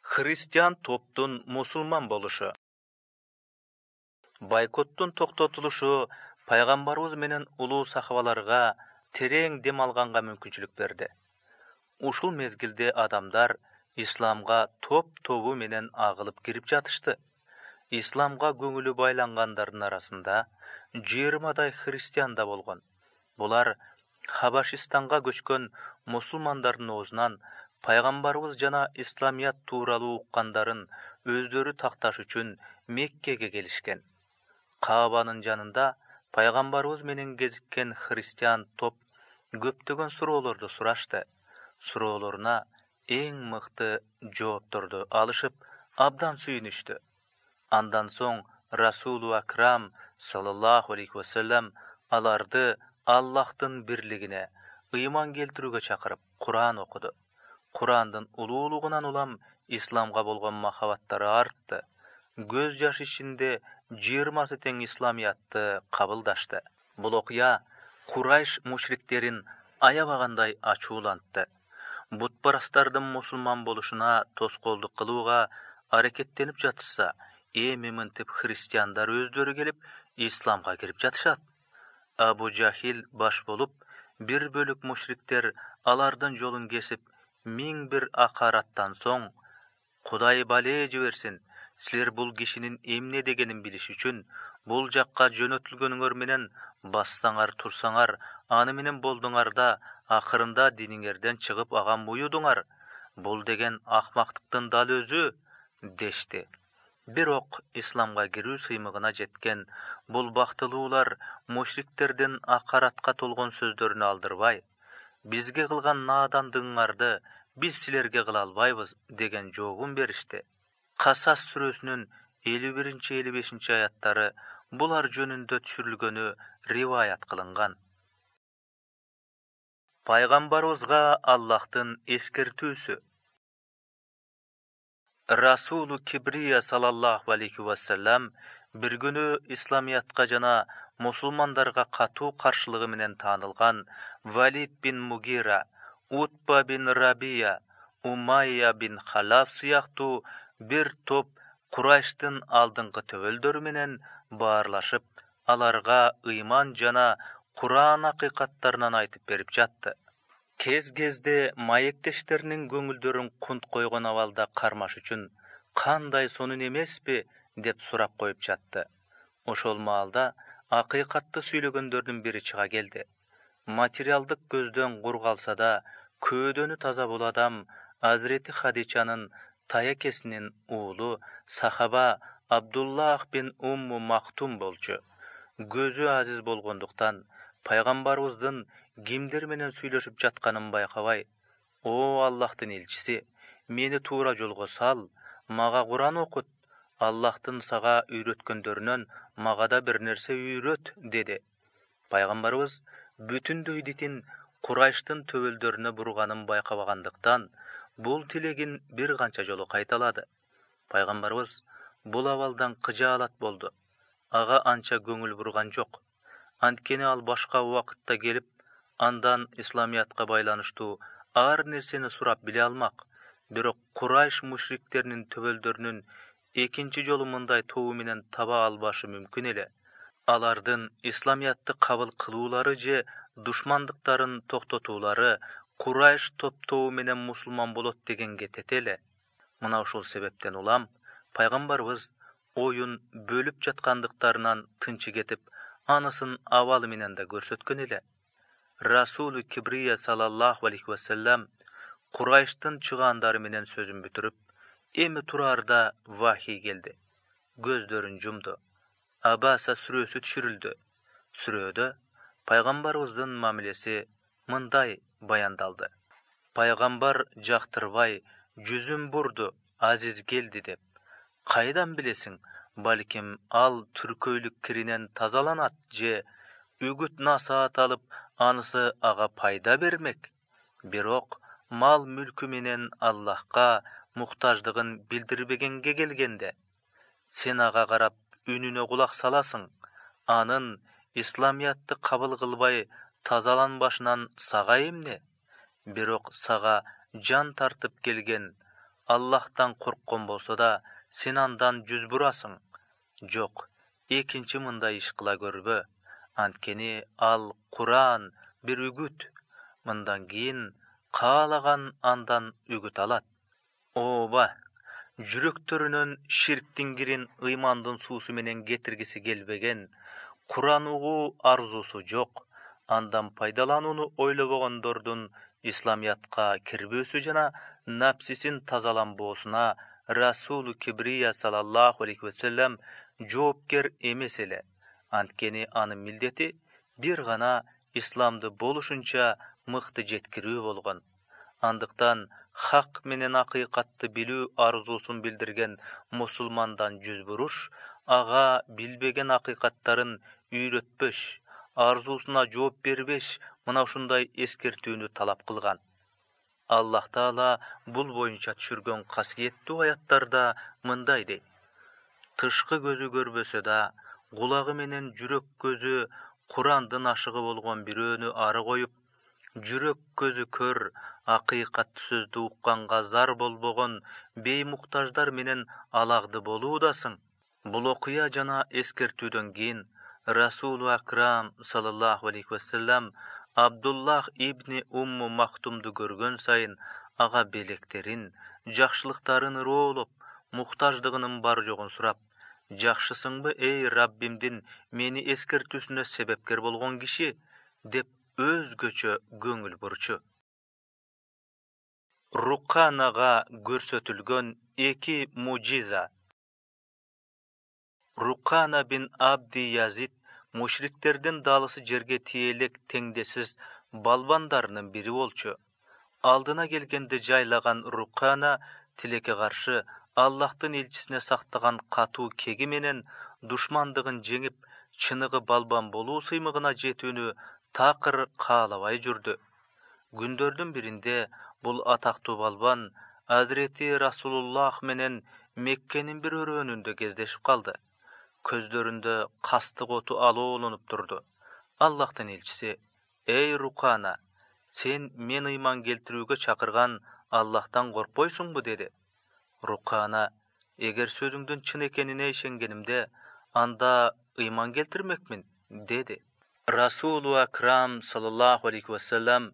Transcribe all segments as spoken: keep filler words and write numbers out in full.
Христиан топтун мусулман болушу. Бойкоттун токтотулушу пайгамбарыбыз менен улуу сахабаларга терең дем алганга мүмкүнчүлүк берди. Ушул мезгилде адамдар исламга топ-тобу менен агылып кирип жатышты. Исламга көңүлү байлангандардын арасында жыйырмадай христиан да болгон. Булар Хабашистанга көчкөн мусулмандардын оозунан пайгамбарыбыз жана исламият тууралуу уккандарын өздөрү такташ үчүн Меккеге келишкен. Каабанын жанында пайгамбарыбыз менен кезиккен христиан топ көптөгөн суроолорду сурашты. Суроолоруна эң мыкты жоопторду алышып, абдан сүйүнүштү. Андан соң Расулу Акрам саллаллаху алейхи вассалам аларды Аллахтын бирлигине, ыйман келтирүүгө чакырып, Куран окуду. Курандын улуулугунан улам исламга болгон махабаттары артты. Көз жаш ичинде жыйырмасы тең исламиятты кабылдашты. Бул окуя Курайш мушриктерин аябагандай ачуулантты. Бутпарастардын мусулман болушуна тоскоолдук кылууга аракеттенип жатышса, эми мынтип христиандар өздөрү келип исламга кирип жатышат. Абу Жахил баш болуп, бир бөлүк мушриктер алардын жолун кесип, миң бир акараттан соң, Кудай бале жиберсин, силер бул кишинин эмне дегенин билиш үчүн бул жакка жөнөтүлгөнүңөр менен бассаңар, турсаңар, аны менен болдуңар да акырында диниңерден чыгып ага буюдуңар. Бул деген акмактыктын дал өзү, дешти. Бирок исламга кирүү сыймыгына жеткен бул бактылуулар мушриктердин акаратка толгон сөздөрүнө алдырбай, бизге кылган наадандыгыңарды биз силерге кыла албайбыз деген жообун беришти. Касас сүрөсүнүн элүү биринчи элүү бешинчи аяттары булар жөнүндө түшүрүлгөнү риваят кылынган. Пайгамбарыбызга Аллахтын эскертүүсү. Расулу Кибрия саллаллаху алейхи вассалам бир күнү исламиятка жана мусулмандарга катуу каршылыгы менен таанылган Валид бин Мугира, Утба бин Рабия, Умайя бин Халаф сыяктуу бир топ Курайштын алдыңкы төбөлдөрү менен баарлашып, аларга ыйман жана Куран акыйкаттарынан айтып берип жатты. Кез-кезде маектештеринин көңүлдөрүн кунт койгон абалда кармаш үчүн кандай сонун эмеспи деп сурап коюп жатты. Ошол маалда акыйкатты сүйлөгөндөрдүн бири чыга келди. Материалдык көздөн кур калса да, көөдөнү таза бул адам Азирети Хадичанын таякесинин уулу сахаба Абдуллах бин Умму Мактум болчу. Көзү азиз болгондуктан пайгамбарыбыздын кимдер менен сүйлөшүп жатканын байкабай, "О Аллахтын элчиси, мени туура жолго сал, мага Куран окут, Аллахтын сага үйрөткөндөрүнөн мага да бир нерсе үйрөт" деди. Пайгамбарыбыз бүтүндөй дитин Курайштын төбөлдөрүнө бурганын байкабагандыктан, бул тилегин бир канча жолу кайталады. Пайгамбарыбыз бул абалдан кыжаалат болду. Ага анча көңүл бурган жок. Анткени ал башка убакытта келип, андан исламиятка байланыштуу ар нерсени сурап биле алмак. Бирок Курайш мушриктеринин төбөлдөрүнүн экинчи жолу мындай тобу менен таба албашы мүмкүн эле. Алардын исламиятты кабыл кылуулары же душмандыктарын токтотуулары Курайш топ-тобу менен мусулман болот дегенге тете эле. Мына ушул себептен улам пайгамбарыбыз оюн бөлүп жаткандыктарынан тынчы кетип, анысын абалы менен да көрсөткөн эле. Расулу Кибрия саллаллаху алейхи вассалам Курайштын чыгаандары менен сөзүн бүтүрүп, эми тураарда вахий келди. Көздөрүн жумду. Абаса сүрөсү түшүрүлдү. Сүрөдө пайгамбарыбыздын мамилеси мындай баяндалды. Пайгамбар жактырбай, жүзүн бурду, азиз келди деп. Кайдан билесиң, балким ал түркөйлүк киринен тазаланат же үгүт насаат алып, анысы ага пайда бермек. Бирок мал мүлкү менен Аллахка муктаждыгын билдирбегенге келгенде, сен ага карап үнүнө кулак саласың, анын исламиятты кабыл кылбай тазаланбашынан сага эмне? Бирок сага жан тартып келген Аллахтан корккон болсо да, сен андан жүз бурасың. Жок, экинчи мындай иш кыла көрбө. Анткени ал Куран бир үгүт. Мындан кийин каалаган андан үгүт алат. Ооба, жүрөктөрүнөн ширктин кирин ыймандын суусу менен кетиргиси келбеген, Куран угуу арзусу жок, андан пайдаланууну ойлобогондордун исламиятка кирбөөсү жана напсисин тазаланбоосуна Расулу Кибрия саллаллаху алейхи вассалам жоопкер эмес эле. Анткени анын милдети бир гана исламды болушунча мыкты жеткирүү болгон. Андыктан хак менен акыйкатты билүү арзуусун билдирген мусулмандан жүз буруш, ага билбеген акыйкаттарын үйрөтпөш, арзуусуна жооп бербеш, мына ушундай эскертүүнү талап кылган. Аллах Таала бул боюнча түшүргөн касиеттүү аяттарда мындай дейт: тышкы көзү көрбөсө да, кулагы менен жүрөк көзү Курандын ашыгы болгон бирөөнү ары коюп, жүрөк көзү көр, акыйкат сөздү укканга зар болбогон беймуктаждар менен алагды болуудасың. Бул окуя жана эскертүүдөн кийин Расулу Акрам саллаллаху алейхи вассалам Абдуллах ибни Умму Махтумду көргөн сайын ага белектерин, жакшылыктарын ыроолоп, муктаждыгынын бар жогун сурап: «Жакшысыңбы, эй Раббимдин мени эскертүүсүнө себепкер болгон киши?» деп өзгөчө көңүл бурчу. Руканага көрсөтүлгөн эки мужиза. Рукана бин Абди Язид мушриктердин далысы жерге тиелек теңдесиз балбандарынын бири болчу. Алдына келгенде жайлаган Рукана тилекке каршы Аллахтын элчисине сактаган катуу кеги менен душмандыгын жеңип, чыныгы балбан болуу сыймыгына жетүүнү такыр каалабай жүрдү. Күндөрдүн биринде бул атактуу балбан Азирети Расулуллах менен Меккенин бир өрөөнүндө кездешип калды. Көздөрүндө кастык оту алоолонуп турду. Аллахтын элчиси: «Эй Рукана, сен мен ыйман келтирүүгө чакырган Аллахтан коркпойсуңбу?» деди. Рукана: «Эгер сөзүңдүн чын экенине ишенгенимде, анда ыйман келтирмекмин», деди. Расулу Акрам саллаллаху алейхи вассалам: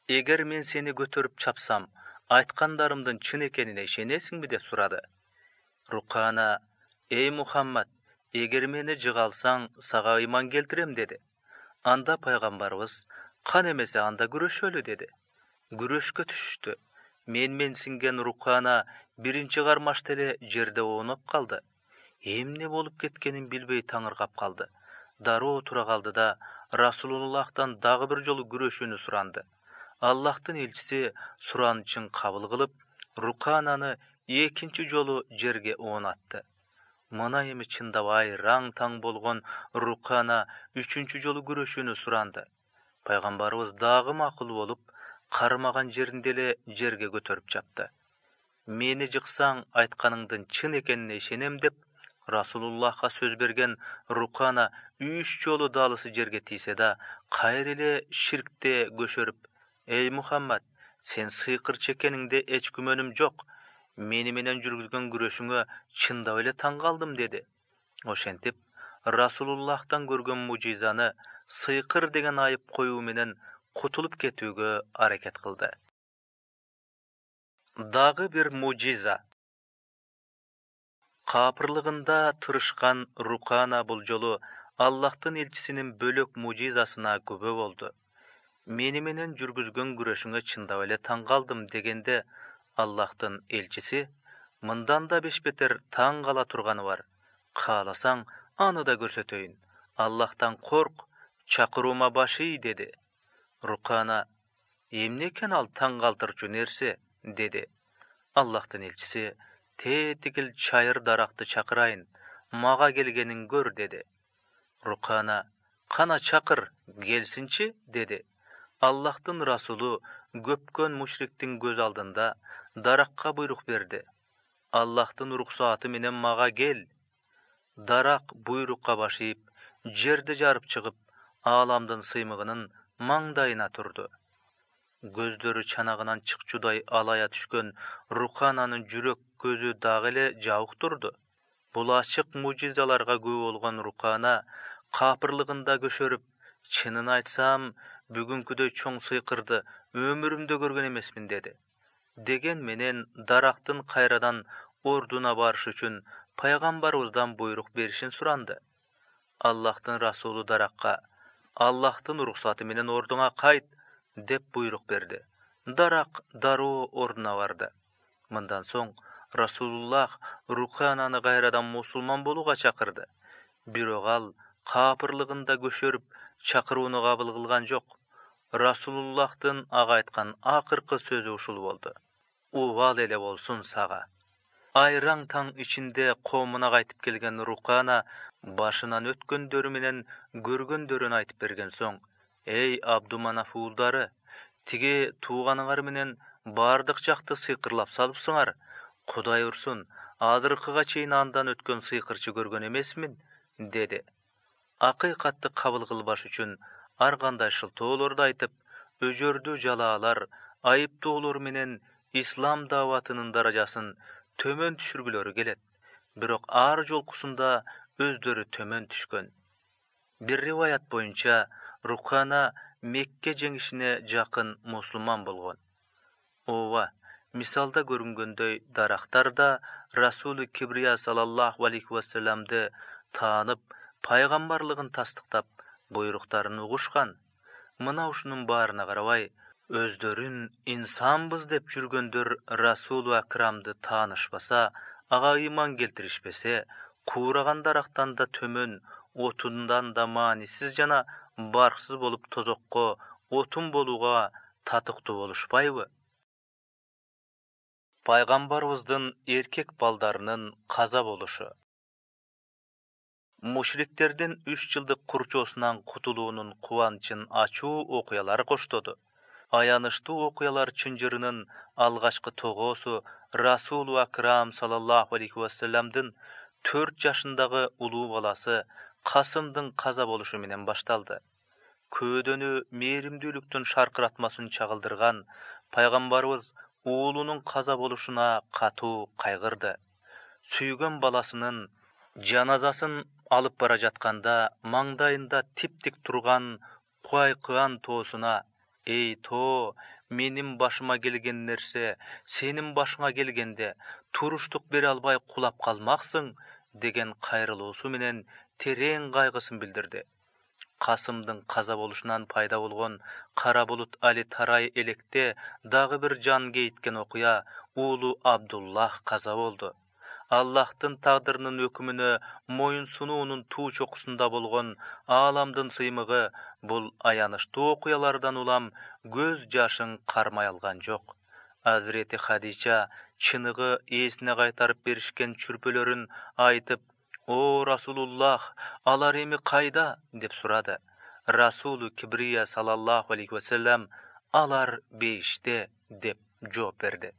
«Эгер мен сени көтөрүп чапсам, айткандарымдын чын экенине ишенесиңби?» деп сурады. Рукана: «Эй Мухаммад, эгер мени жыгалсаң, сага ыйман келтирем», деди. Анда пайгамбарыбыз: «Кан эмесе анда күрөшөлү», деди. Күрөшкө түшүштү. Мен-менсинген Рукана биринчи кармашта эле жерде оонуп калды. Эмне болуп кеткенин билбей таңыркап калды. Дароо тура калды да Расулуллахтан дагы бир жолу күрөшүүнү суранды. Аллахтын элчиси суранычын кабыл кылып, Рукананы экинчи жолу жерге оонатты. Мына эми чындабай раң-таң болгон Рукана үчүнчү жолу күрөшүүнү суранды. Пайгамбарыбыз дагы макул болуп, кармаган жеринде эле жерге көтөрүп чапты. «Мени жыксаң, айтканыңдын чын экенине ишенем» деп Расулуллахка сөз берген Рукана үч жолу далысы жерге тийсе да, кайра эле ширкте көшөрүп: «Эй Мухаммад, сен сыйкырчы экениңде эч күмөнүм жок. Мени менен жүргүзгөн күрөшүңө чындап эле таң калдым», деди. Ошентип, Расулуллахтан көргөн мужизаны сыйкыр деген айып коюу менен кутулуп кетүүгө аракет кылды. Дагы бир мужиза. Капырлыгында тырышкан Рукана бул жолу Аллахтын элчисинин бөлөк мужизасына күбө болду. «Мени менен жүргүзгөн күрөшүңө чындап эле таң калдым» дегенде Аллахтын элчиси: «Мындан да беш бетер таң кала турганы бар. Кааласаң, аны да көрсөтөйүн. Аллахтан корк, чакыруума баш ий», деди. Рукана: «Эмне экен ал таң калтырчу нерсе?» деди. Аллахтын элчиси: «Тетигил чайыр даракты чакырайын, мага келгенин көр», деди. Рукана: «Кана чакыр, келсинчи», деди. Аллахтын Расулу көпкөн мушриктин көз алдында даракка буйрук берди. «Аллахтын уруксааты менен мага кел». Дарак буйрукка баш ийип, жерди жарып чыгып, ааламдын сыймыгынын маңдайына турду. көздөрү чанагынан чыкчудай алая түшкөн Рукананын жүрөк көзү дагы эле жабык турду. Бул ачык мужизаларга күбө болгон Рукана капырлыгында көшөрүп, чынын айтсам, бүгүнкүдөй чоң сыйкырды өмүрүмдө көргөн эмесмин деди. Деген менен дарактын кайрадан ордуна барыш үчүн пайгамбарыбыздан буйрук беришин суранды. Аллахтын расулу даракка: Аллахтын уруксаты менен ордуңа кайт деп буйрук берди. Дарак дароо ордуна барды. Мындан соң Расулуллах Рукананы кайрадан мусулман болууга чакырды. Бирок ал капырлыгында көшөрүп, чакырууну кабыл кылган жок. Расулуллахтын ага айткан акыркы сөзү ушул болду: Убал эле болсун сага. Айраң таң ичинде коомуна кайтып келген Рукана башынан өткөндөрү менен көргөндөрүн айтып берген соң: Эй Абдуманаф уулдары, тиги тууганыңар менен бардык жакты сыйкырлап салыпсыңар. Кудай урсун, азыркыга чейин андан өткөн сыйкырчы көргөн эмесмин, деди. Акыйкатты кабыл кылбаш үчүн ар кандай шылтоолорду айтып, өжөрдү жалаалар, айыптоолор менен ислам дааватынын даражасын төмөн түшүргүлөрү келет. Бирок ар жолкусунда өздөрү төмөн түшкөн. Бир риваят боюнча Рукана Мекке жеңишине жакын мусулман болгон. Ооба, мисалда көрүнгөндөй дарактар да Расулу Кибрия саллаллаху алейхи вассаламды таанып, пайгамбарлыгын тастыктап, буйруктарын угушкан. Мына ушунун баарына карабай, өздөрүн инсанбыз деп жүргөндөр Расулу Акрамды таанышпаса, ага ыйман келтиришпесе, куураган дарактан да төмөн, отундан да маанисиз жана барксыз болуп тозокко, отун болууга татыктуу болушпайбы? Пайгамбарыбыздын эркек балдарынын каза болушу. Мушриктердин үч жылдык курчоосунан кутулуунун кубанычын ачуу окуялар коштоду. Аянычтуу окуялар чынжырынын алгачкы тогоосу Расулу Акрам саллаллаху алейхи вассаламдын төрт жашындагы улуу баласы Касымдын каза болушу менен башталды. Көөдөнү мээримдүүлүктүн шаркыратмасын чагылдырган пайгамбарыбыз уулунун каза болушуна катуу кайгырды. Сүйгөн баласынын жаназасын алып бара жатканда маңдайында тип-тик турган Куайкыан тоосуна: Эй тоо, менин башыма келген нерсе сенин башыңа келгенде туруштук бере албай кулап калмаксың, деген кайрылуусу менен терең кайгысын билдирди. Касымдын каза болушунан пайда болгон кара булут али тарай электе дагы бир жан кейиткен окуя уулу Абдуллах каза болду. Аллахтын тагдырынын өкүмүнө моюн сунуунун туу чокусунда болгон ааламдын сыймыгы бул аянычтуу окуялардан улам көз жашын кармай алган жок. Азирети Хадича чыныгы ээсине кайтарып беришкен чүрпөлөрүн айтып: О Расулуллах, алар эми кайда? Деп сурады. Расулу Кибрия саллаллаху алейхи вассалам: Алар бейиште, деп жооп берди.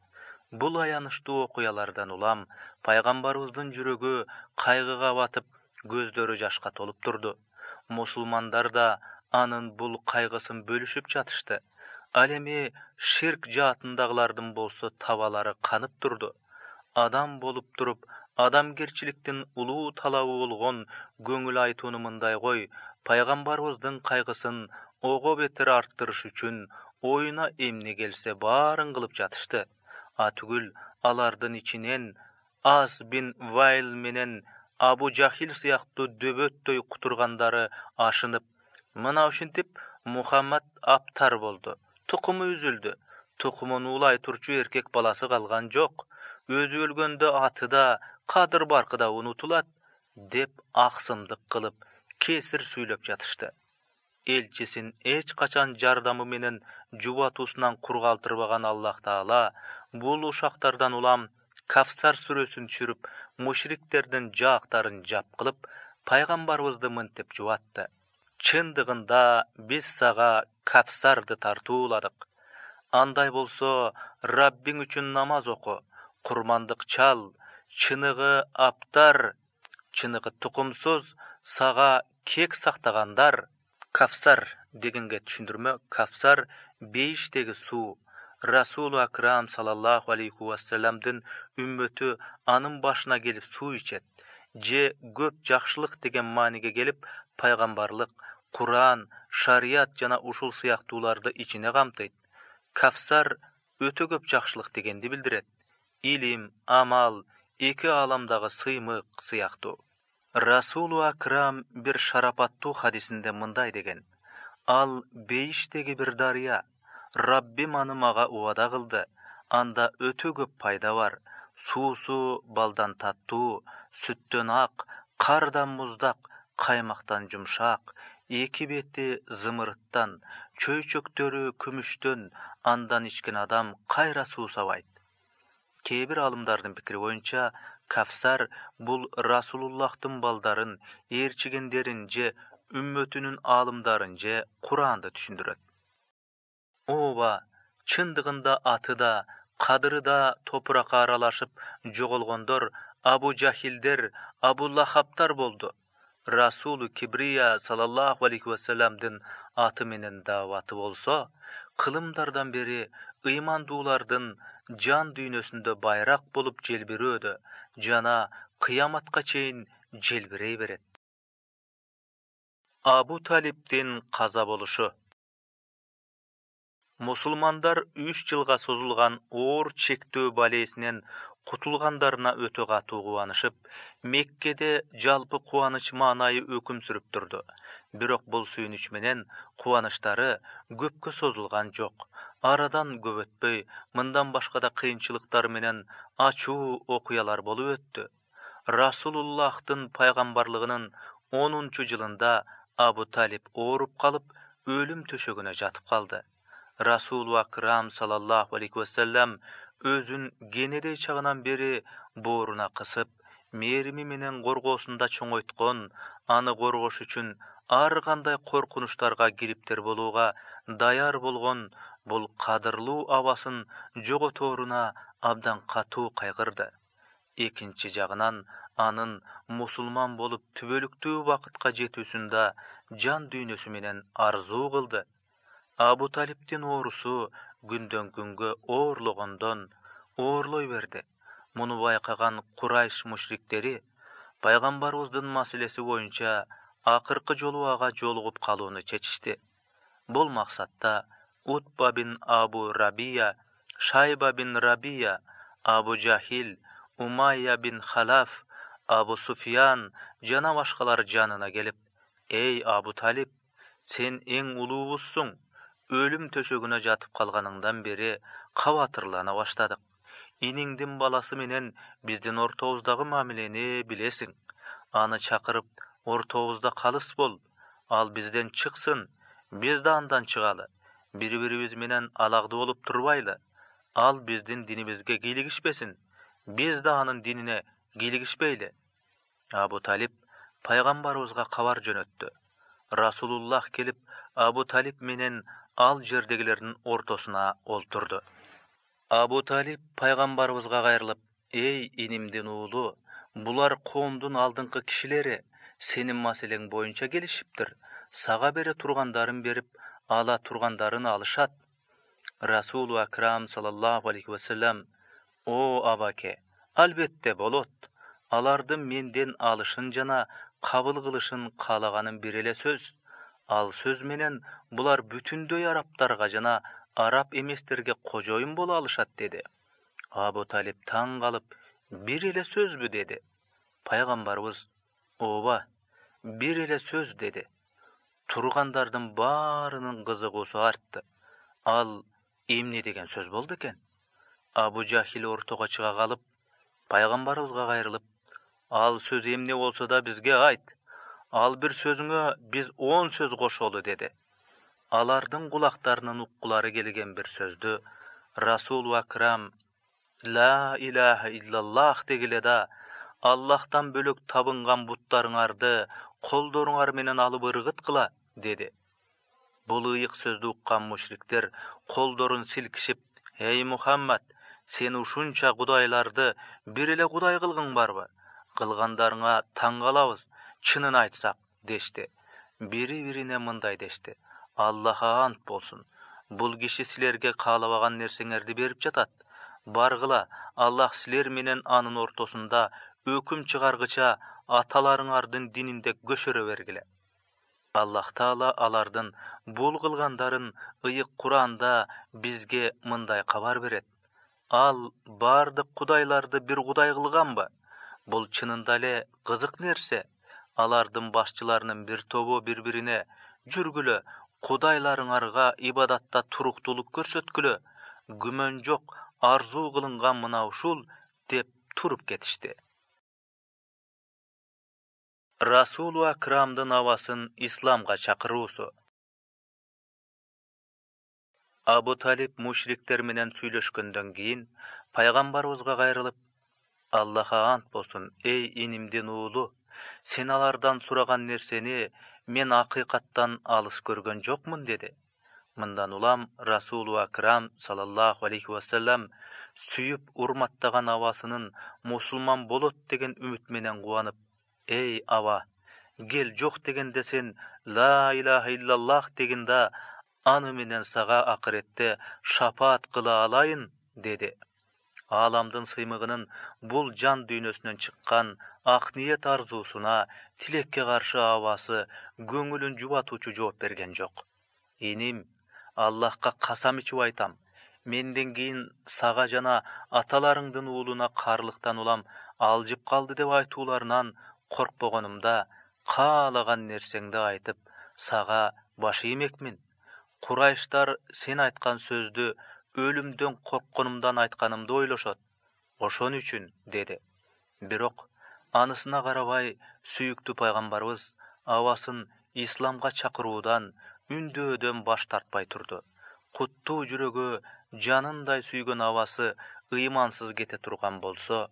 Бул аянычтуу окуялардан улам пайгамбарыбыздын жүрөгү кайгыга батып, көздөрү жашка толуп турду. Мусулмандар да анын бул кайгысын бөлүшүп жатышты. Ал эми ширк жаатындагылардын болсо табалары канып турду. Адам болуп туруп, адамгерчиликтин улуу талабы болгон көңүл айтууну мындай кой, пайгамбарыбыздын кайгысын ого бетер арттырыш үчүн оюна эмне келсе баарын кылып жатышты. Атүгүл алардын ичинен Ас бин Вайл менен Абу Жахил сыяктуу дөбөттөй кутургандары ашынып: Мына ушинтип Мухаммад аптар болду, тукуму үзүлдү, тукумун уулай турчу эркек баласы калган жок, өзү өлгөндө аты да, кадыр баркы да унутулат, деп аксымдык кылып, кесир сүйлөп жатышты. Элчисин эч качан жардамы менен жубатуусунан кур калтырбаган Аллах Таала бул ушактардан улам Кавсар сүрөсүн түшүрүп, мушриктердин жаактарын жап кылып, пайгамбарыбызды мынтип жубатты: Чындыгында биз сага Кавсарды тартууладык. Андай болсо, Раббиң үчүн намаз оку, курмандык чал, чыныгы аптар, чыныгы тукумсуз, сага кек сактагандар. Кавсар дегенге түшүндүрмө: Кавсар бейиштеги суу, Расулу Акрам саллаллаху алейхи вассаламдын үммөтү анын башына келип суу ичет, же көп жакшылык деген мааниге келип пайгамбарлык, Куран, шарият жана ушул сыяктууларды ичине камтыйт. Кавсар өтө көп жакшылык дегенди билдирет. Илим, амал, эки ааламдагы сыймык сыяктуу. Расулу Акрам бир шарапаттуу хадисинде мындай деген: ал бейиштеги бир дарыя. Раббим аны мага убада кылды. Анда өтө көп пайда бар. Суусу балдан таттуу, сүттөн ак, кардан муздак, каймактан жумшак, эки бети зымырыттан, чөйчөктөрү күмүштөн, андан ичкен адам кайра суусабайт. Кээ бир алымдардын пикири боюнча, Кавсар бул Расулуллахтын балдарын, ээрчигендерин же үммөтүнүн аалымдарын же Куранды түшүндүрөт. Ооба, чындыгында аты да, кадыры да топуракка аралашып жоголгондор Абу Жахилдер, Абу Лахабтар болду. Расулу Кибрия саллаллаху алейхи вассаламдын аты менен дааваты болсо, кылымдардан бери ыймандуулардын жан дүйнөсүндө байрак болуп желбирөөдө жана кыяматка чейин желбирей берет. Абу Талиптин каза болушу. Мусулмандар үч жылга созулган оор чектөө балесинен кутулгандарына өтө катуу кубанышып, Меккеде жалпы кубаныч маанайы өкүм сүрүп турду. Бирок бул сүйүнүч менен кубанычтары көпкө созулган жок. Арадан көп өтпөй, мындан башка да кыйынчылыктар менен ачуу окуялар болуп өттү. Расулуллахтын пайгамбарлыгынын онунчу жылында Абу Талип ооруп калып, өлүм төшөгүнө жатып калды. Расулу Акрам саллаллаху алейхи вассалам өзүн кенедей чагынан бери бооруна кысып, мээрими менен коргоосунда чоңойткон, аны коргош үчүн ар кандай коркунучтарга кириптер болууга даяр болгон бул кадырлуу абасын жоготооруна абдан катуу кайгырды. Экинчи жагынан анын мусулман болуп түбөлүктүү бакытка жетүүсүндө жан дүйнөсү менен арзуу кылды. Абу Талиптин оорусу күндөн күнгө оорлогондон оорлой берди. Муну байкаган Курайш мушриктери пайгамбарыбыздын маселеси боюнча акыркы жолу ага жолугуп калууну чечишти. Бул максатта Утба бин Абу Рабия, Шайба бин Рабия, Абу Жахил, Умайя бин Халаф, Абу Суфиян жана башкалар жанына келип: "Эй Абу Талип, сен эң улуубузсуң. Өлүм төшөгүнө жатып калганыңдан бери кабатырлана баштадык. Иниңдин баласы менен биздин ортобуздагы мамилени билесиң. Аны чакырып, ортобузда калыс бол. Ал бизден чыксын, биз да андан чыгалы. Бири-бирибиз менен алагды болуп турбайлы. Ал биздин динибизге кийлигишпесин, биз да анын динине кийлигишпейли." Абу Талип пайгамбарыбызга кабар жөнөттү. Расулуллах келип, Абу Талип менен ал жердегилердин ортосуна олтурду. Абу Талип пайгамбарыбызга кайрылып: "Эй инимдин уулу, булар коомдун алдыңкы кишилери, сенин маселең боюнча келишиптир. Сага бере тургандарын берип, ала тургандарын алышат." Расулу Акрам саллаллаху алейхи вассалам: "О абаке, албетте болот. Алардын менден алышын жана кабыл кылышын каалаганым бир эле сөз. Ал сөз менен булар бүтүндөй араптарга жана араб эместерге кожоюн боло алышат" деди. Абу Талип таң калып: "Бир эле сөзбү?" деди. Пайгамбарыбыз: "Ооба, бир эле сөз" деди. Тургандардын баарынын кызыгуусу артты. Ал эмне деген сөз болду экен? Абу Жахил ортого чыга калып, пайгамбарыбызга кайрылып: "Ал сөз эмне болсо да бизге айт. Ал бир сөзүңө биз он сөз кошолу" деди. Алардын кулактарынын уккулары келген бир сөздү Расулу Акрам "Ла илаха иллаллах" дегиле да, "Аллахтан бөлөк табынган буттарыңарды колдоруңар менен алып ыргыткыла" деди. Бул ыйык сөздү уккан мушриктер колдорун силкишип: "Эй Мухаммад, сен ушунча кудайларды бир эле кудай кылгың барбы? Кылгандарыңа таң калабыз, чынын айтсак" дешти. Бири-бирине мындай дешти: "Аллахка ант болсун, Бул киши силерге каалабаган нерсеңерди берип жатат. Баргыла, Аллах силер менен анын ортосунда өкүм чыгаргыча аталарыңардын дининде көшөрө бергиле. Аллах Таала алардын бул кылгандарын ыйык Куранда бизге мындай кабар берет. Ал бардык кудайларды бир кудай кылганбы? Бул чынында эле кызык нерсе. Алардын башчыларынын бир тобу бири-бирине жүргүлө, кудайларыңарга ибадатта туруктуулук көрсөткүлө, күмөн жок, арзуу кылынган мына ушул деп туруп кетишти. Расулу Акрамдын абасын исламга чакыруусу. Абу Талиб мушриктер менен сүйлөшкөндөн кийин пайгамбарыбызга кайрылып: Аллахка ант болсун, эй инимдин уулу, сен алардан сураган нерсени мен акыйкаттан алыс көргөн жокмун деди. Мындан улам Расулу Акрам саллаллаху алейхи вассалам сүйүп урматтаган абасынын мусулман болот деген үмүт менен кубанып: эй аба, кел, жок дегенде сен ла илаха иллаллах дегенде аны менен сага акыретте шапаат кыла алайын деди. Ааламдын сыймыгынын бул жан дүйнөсүнөн чыккан ак ниет арзуусуна тилекке каршы абасы көңүлүн жубатуучу жооп берген жок. Иним, Аллахка касам ичип айтам, менден кийин сага жана аталарыңдын уулуна каарлыктан улам алжып калды деп айтууларынан коркпогонумда каалаган нерсеңди айтып сага баш иймекмин. Курайштар сен айткан сөздү өлүмдөн коркконумдан айтканымды ойлошот. Ошон үчүн деди. Бирок анысына карабай сүйүктүү пайгамбарыбыз абасын исламга чакыруудан, үндөөдөн баш тартпай турду. Куттуу жүрөгү жанындай сүйгөн абасы ыймансыз кете турган болсо,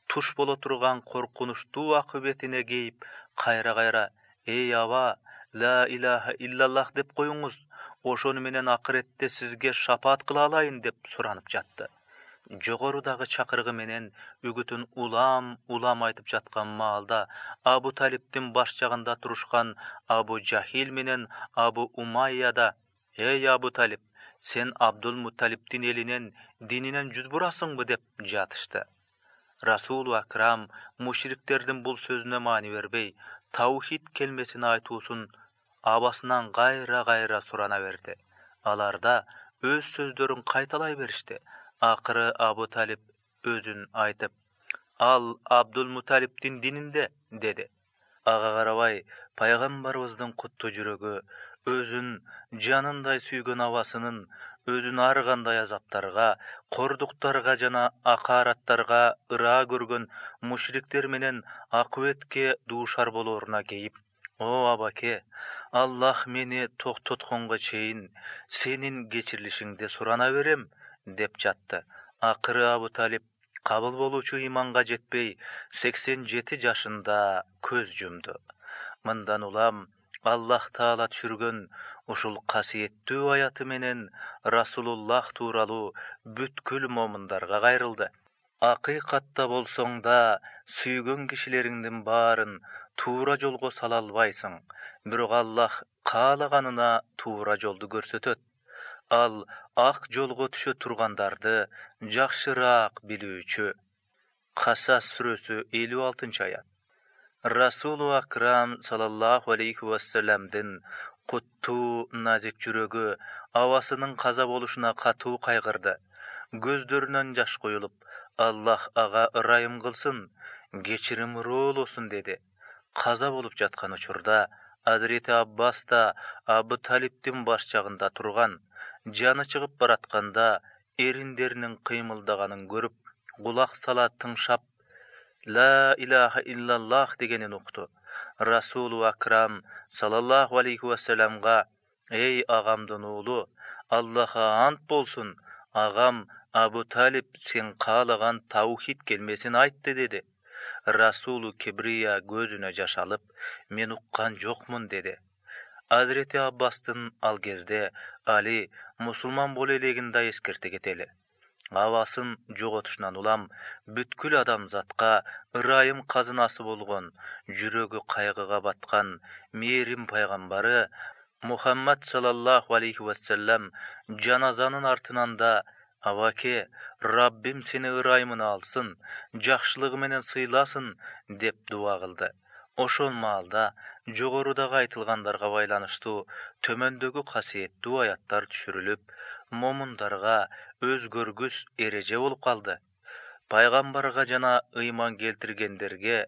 туш боло турган коркунучтуу акыбетине кейип кайра-кайра: эй аба, ла илаха иллаллах деп коюңуз, ошону менен акыретте сизге шапаат кыла алайын деп суранып жатты. Жогорудагы чакырыгы менен үгүтүн улам-улам айтып жаткан маалда Абу Талибдин баш жагында турушкан Абу Жахил менен Абу Умайя да: эй Абу Талиб, сен Абдул Мутталибдин элинен, дининен жүз бурасыңбы деп жатышты. Расулу Акрам мушриктердин бул сөзүнө маани бербей, таухид келмесин айтуусун абасынан кайра-кайра сурана берди. Алар да өз сөздөрүн кайталай беришти. Акыры Абу Талиб өзүн айтып: ал Абдул Мутталибдин дининде деди. Ага карабай пайгамбарыбыздын куттуу жүрөгү өзүн жанындай сүйгөн абасынын өзүн ар кандай азаптарга, кордуктарга жана акаараттарга ыраа көргөн мушриктер менен акыбетке дуушар болооруна кейип: о абаке, Аллах мени токтотконго чейин сенин кечирилишиңди сурана берем деп жатты. Акыры Абу Талиб кабыл болуучу ыйманга жетпей сексен жети жашында көз жумду. Мындан улам Аллах Таала түшүргөн ушул касиеттүү аяты менен Расулуллах тууралуу бүткүл момундарга кайрылды. Акыйкатта болсоң да сүйгөн кишилериңдин баарын туура жолго сала албайсың, бирок Аллах каалаганына туура жолду көрсөтөт. Ал ак жолго түшө тургандарды жакшыраак билүүчү. Касас сүрөсү элүү алтынчы аят. Расулу Акрам саллаллаху алейхи вассаламдын куттуу назик жүрөгү абасынын каза болушуна катуу кайгырды. Көздөрүнөн жаш куюлуп: Аллах ага ырайым кылсын, кечиримдүү болсун деди. Каза болуп жаткан учурда Адрети Аббас да Абу Талибдин баш жагында турган. Жаны чыгып баратканда эриндеринин кыймылдаганын көрүп, кулак сала тыңшап, ла илаха иллаллах дегенин укту. Расулу Акрам саллаллаху алейхи вассаламга: эй агамдын уулу, Аллахка ант болсун, агам Абу Талиб сен каалаган таухид келмесин айтты деди. Расулу Кибрия көзүнө жаш алып: мен уккан жокмун деди. Адрети Аббастын ал кезде Али мусулман боло элегин да эскерте кетели. Абасын жоготушунан улам бүткүл адамзатка ырайым казынасы болгон, жүрөгү кайгыга баткан мээрим пайгамбары Muhammad sallallahu aleyhi ve sellem janazanın артынан да "Абаке, Rabbim seni ырайымына алсын, жакшылыгы менен сыйласын" деп дуа кылды. Ошол маалда жогорудагы айтылгандарга байланыштуу төмөндөгү касиеттүү аяттар түшүрүлүп, момундарга өзгөргүс эреже болуп калды. Пайгамбарга жана ыйман келтиргендерге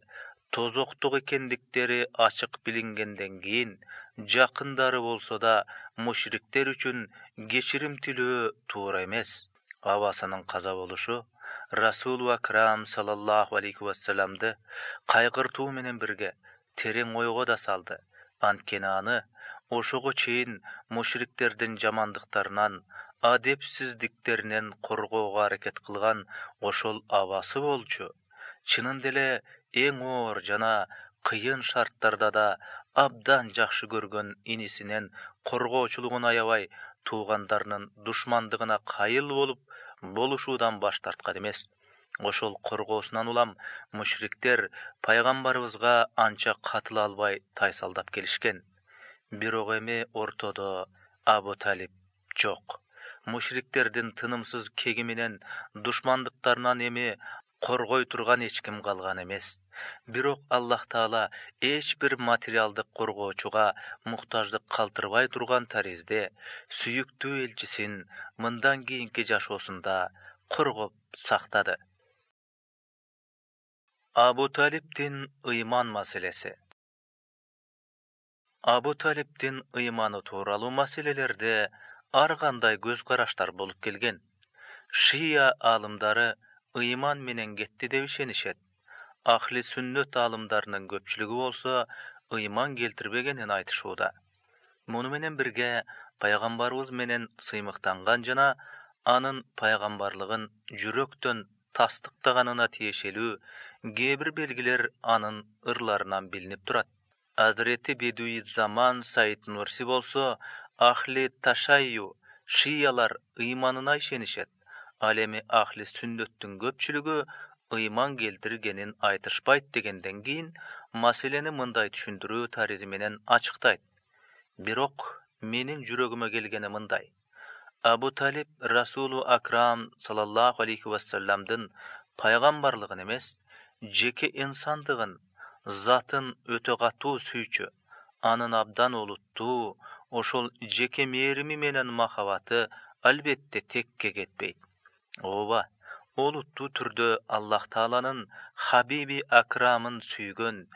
тозоктук экендиктери ачык билингенден кийин жакындары болсо да мушриктер үчүн кечирим тилөө туура эмес. Абасынын каза болушу Расулу Акрам саллаллаху алейхи вассаламды кайгыртуу менен бирге терең ойго да салды. Анткени аны ошого чейин мушриктердин жамандыктарынан, адепсиздиктеринен коргоого аракет кылган ошол абасы болчу. Чынында эле эң оор жана кыйын шарттарда да абдан жакшы көргөн инисинен коргоочулугун аябай, туугандарынын душмандыгына кайыл болуп болушуудан баш тарткан эмес. Ошол коргоосунан улам мушриктер пайгамбарыбызга анча катыла албай тайсалдап келишкен. Бирок эми ортодо Абу Талиб жок. Мушриктердин тынымсыз кеги менен душмандыктарынан эми коргой турган эч ким калган эмес. Бирок Аллах Таала эч бир материалдык коргоочуга муктаждык калтырбай турган таризде сүйүктүү элчисин мындан кийинки жашоосунда коргоп сактады. Абу Талибдин ыйман маселеси. Абу Талибдин ыйманы тууралуу маселелерде ар кандай көз караштар болуп келген. Шия алымдары ыйман менен кетти деп ишенишет. Ахли сүннөт алымдарынын көпчүлүгү болсо ыйман келтирбегенин айтышууда. Муну менен бирге пайгамбарыбыз менен сыймыктанган жана анын пайгамбарлыгын жүрөктөн тастыктаганына тиешелүү кээ бир белгилер анын ырларынан билинип турат. Азирети Бедуи Заман Саид Нурси болсо Ахли Ташайю шиялар ыйманына ишенишет. Ал эми ахли сүннөттүн көпчүлүгү ыйман келтиргенин айтышпайт дегенден кийин маселени мындай түшүндүрүү таризи менен ачыктайт. Бирок менин жүрөгүмө келгени мындай. Абу Талиб Расулу Акрам саллаллаху алейхи вассаламдын пайгамбарлыгын эмес, жеке инсандыгын, затын өтө катуу сүйчү, анын абдан олуттуу, ошол жеке мээрими менен махабаты албетте текке кетпейт. Ооба, олуттуу түрдө Аллах Тааланын Хабиби Акрамын сүйгөн,